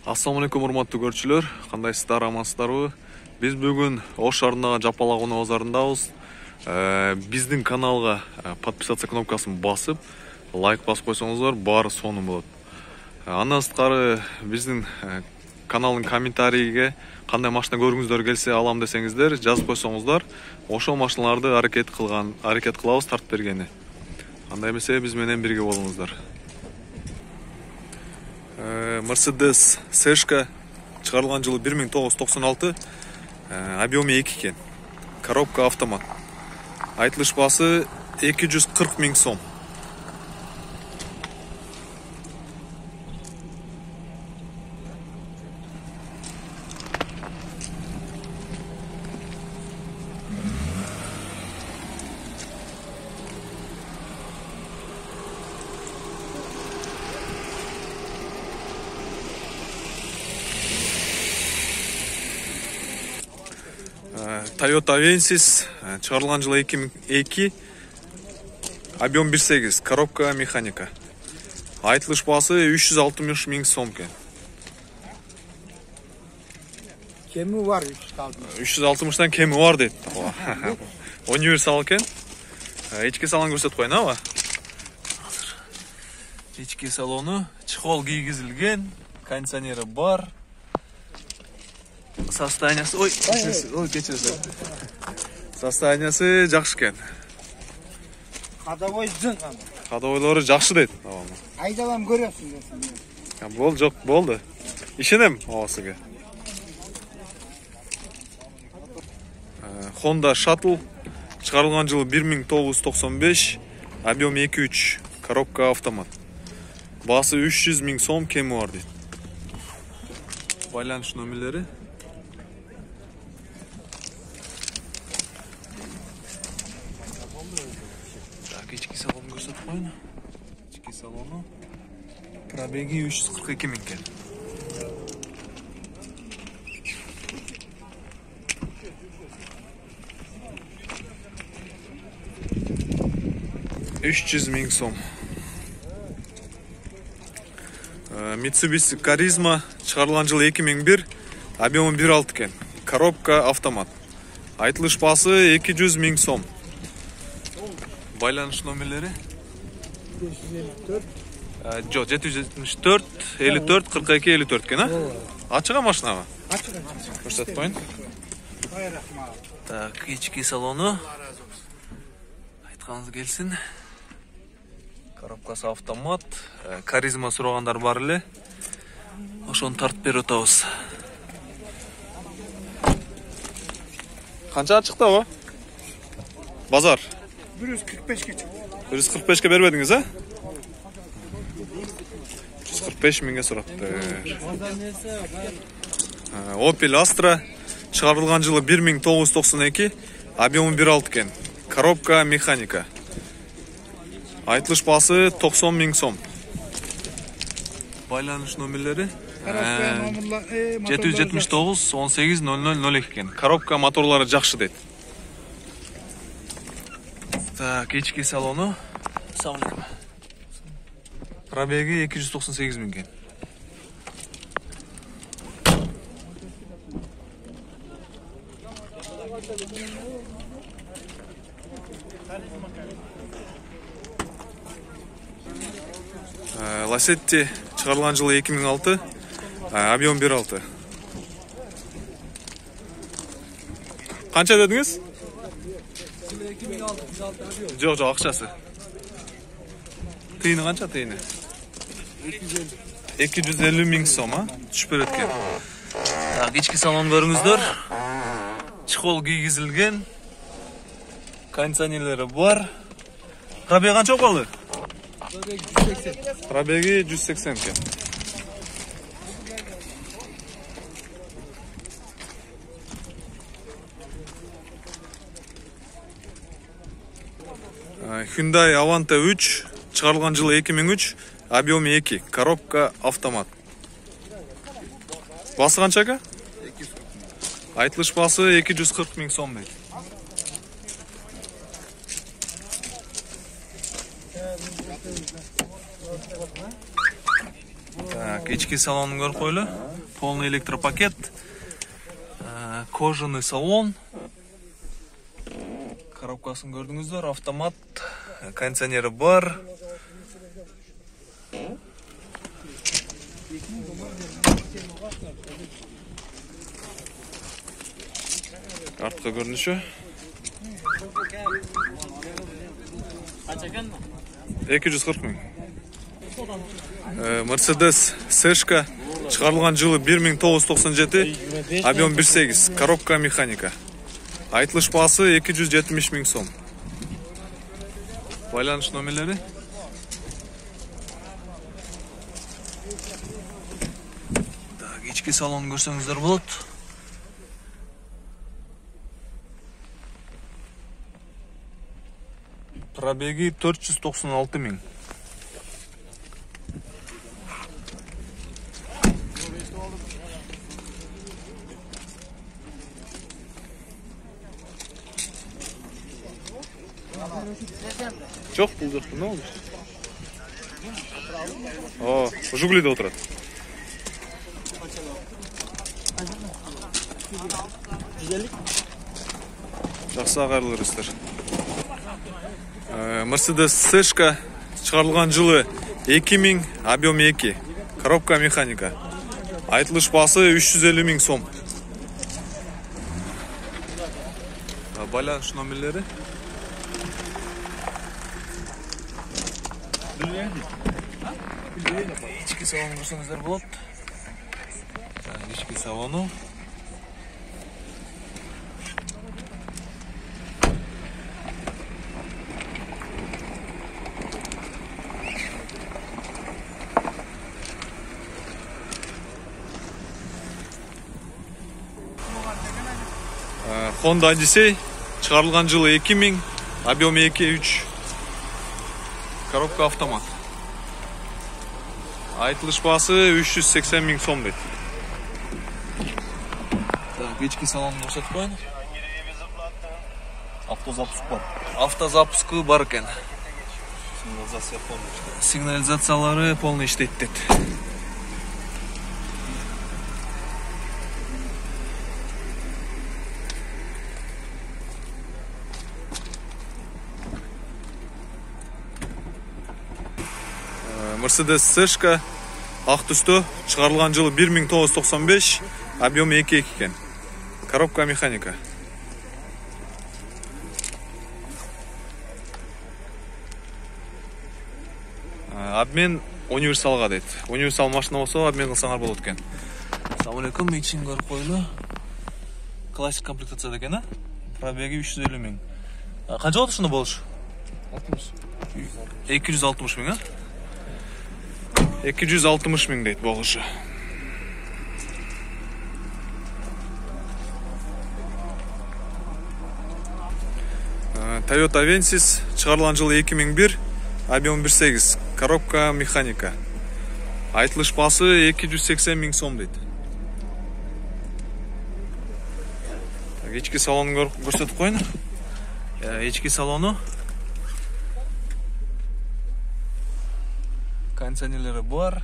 Assalamu alaikum урматтуу көрүүчүлөр, кандайсыздар, амансыздарбы? Биз бүгүн Ош шаарындагы Жапалак базарындабыз. Биздин каналга подписаться кнопкасын басып, лайк басып койсоңуздар, баары сонун болот. Андан сырткары биздин каналдын комментарийге кандай машина көргүңүздөр келсе алам десеңиздер, жазып койсоңуздар, ошол машиналарды аракет кылабыз тартып бергени. Андай эмесе биз менен бирге болуңуздар. Mercedes Seshka чыгарылган жылы 1996, объемы 2 экен. Коробка автомат. Айтылыш баасы 240 000 сом. Toyota Avensis чыгарылган жылы 2002, объем 1.8, коробка механика. Айтылыш баасы 360 000 сом экен. Кеми бар 360-тан кеми бар дейт. Универсал экен. Ички салон көрсөтүп коеюн, аба. Ички салону чехол кийгизилген, кондиционери бар. Состояниясы, кечирсиз. Состояниясы жакшы экен. Кадабой жын кана. Кадабойлору жакшы дейт. Айдалам көрөсүң десем. Болду, жок, болду. Ишенем абасыга. Honda Shuttle чыгарылган жылы 1995, объем 2.3, коробка автомат. Баасы 300 000 сом, кеми бар дейт. Байланыш номерлери. Ички салон көрсөтүп коеюн. Ички салону. Пробеги 342 000 экен. $300 000 сом. Mitsubishi Charisma чыгарылган жылы 2001, объемы 1.6 экен. Коробка автомат. Айтылыш баасы 200 000 сом. Байланыш номерлери 554. Жок, 774 54 42 54 экен, а? Ачыга машинабы? Ачыга. Көрсөтүп коеюн. Так, ички салону. Айтканыңыз келсин. Коробкасы автомат. Каризма сурагандар бар эле. Ошону тартып берип атабыз. Канча чыкты? Базар 145 чыкты. 145 бербедиңиз, а? 145 000 сурапты. Opel Astra чыгарылган жылы 1992, объемы 1.6 экен. Коробка механика. Айтылыш баасы 90 000 сом. Байланыш номерлери 779 18 0002 экен. Коробка моторлары жакшы дейт. Так, ички салону. Пробеги 298 000 экен. Lacetti чыгарылган жылы 2006, объем 1.6. Канча дедиңиз? 2006. Жок, акчасы. Тыйыны канча тыйыны? 250 000 сом, а? Түшүп берет экен. Так, ички салон көрүңүздөр. Чехол кийгизилген. Кондиционерлери бар. Пробеги канча болду? Пробеги 180 экен. Hyundai Avante 3 чыгарылган жылы 2003, объемы 2, коробка автомат. Басы канча? Айтылыш басы 240 000 сом дейт. Так, ички салонун көрүп койлу. полный электропакет, кожаный салон. Коробкасын көрдүңүздөр, автомат, кондиционери бар. Артка көрүнүшү. 240 миң. Mercedes Сэшка, чыгарылган жылы 1997, объем 1.8, коробка механика. Айтылыш баасы 270 миң сом. Байланыш номерлери. Так, ички салон көрсөңүздөр болот. Пробеги 496 миң. Çok bulduk. Ne olmuş? О, Жигулиде отырат. Жақсы ағарлы рестер. Mercedes Сэшка, чыгарылган жылы 2000, объем 2, коробка механика. Айтылыш баасы 350 миң сом. Байланыш номерлери. Ички салон көрсөңүздөр болот. Ички салону. Honda Odyssey, чыгарылган жылы 2000, объем 2.3, коробка автомат. Айтылыш баасы 380 миң сом дейт. Так, ички салонун көрсөтүп коеюн. Автозапуск бар. Автозапускы бар экен. Сигнализациялары полный иштейт дейт. Mercedes Сэшка, ак түстө, чыгарылган жылы 1995, объем 2.2 экен. Коробка механика. Обмен универсалга дейт. Универсал машина болсо обмен кылсаңар болот экен. Assalamu алейкум, ичин көрүп койлу. Классик комплектация экен, а? Пробеги 350 миң. Канча болот ушуну болуш? 260 миң, а? 260 миң дейт болушу. Toyota Avensis, чыгарылган жылы 2001, объем 1.8, коробка механика. Айтылыш баасы 280 миң сом дейт. Ички салонун көрсөтүп коеюн. Ички салону. Кондиционерлери бар.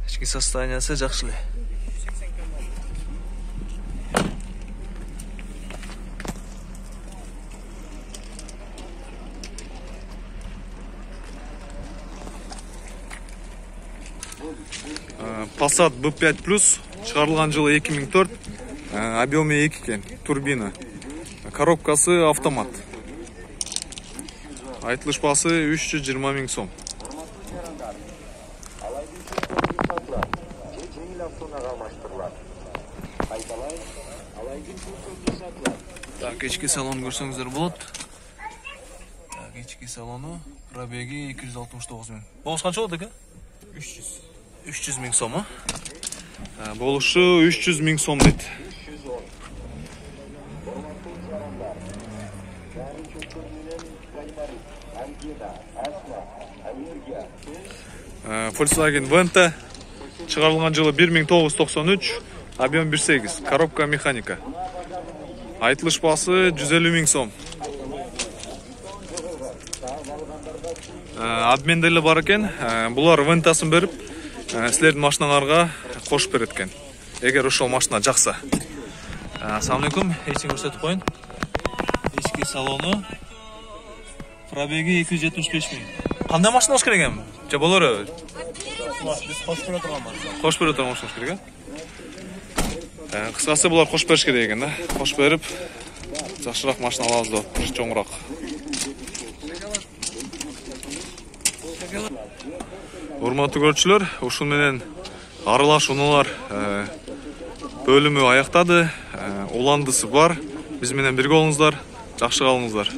Ички состояниясы жакшы эле. Passat B5+, чыгарылган жылы 2004, объемы 2 экен, турбина. Коробкасы автомат. Айтылыш баасы 320 миң сом. Так, ички салон көрсөңүздөр болот. Так, ички салону, пробеги 269 миң. Болуш канча болот экен? 300 миң сом, а? Болушу 300 миң сом дейт. Volkswagen Venta, чыгарылган жылы 1993, объем 1.8, коробка механика. Айтылыш баасы 150 миң сом. Обмен деле бар экен. Булар Вентасын берип, силердин машиналарга кошуп берет экен. Эгер ошол машина жакса. Ассаламу алейкум. Эчин көрсөтүп коюн. Ички салону. Пробеги 275 миң. Кандай машина болуш керек эми? Же болору? Биз кошуп бере турган машина. Кошуп бере турган машина болуш керек э? Кыскасы булар кошуп бериш керек экен да. Кошуп берип, жакшыраак машина алабыз деп атыптыр, чоңураак. Урматтуу көрүүчүлөр, ушун менен аралашуулар бөлүмү аяктады. Уландысы бар. Биз менен бирге болуңуздар, жакшы калыңыздар.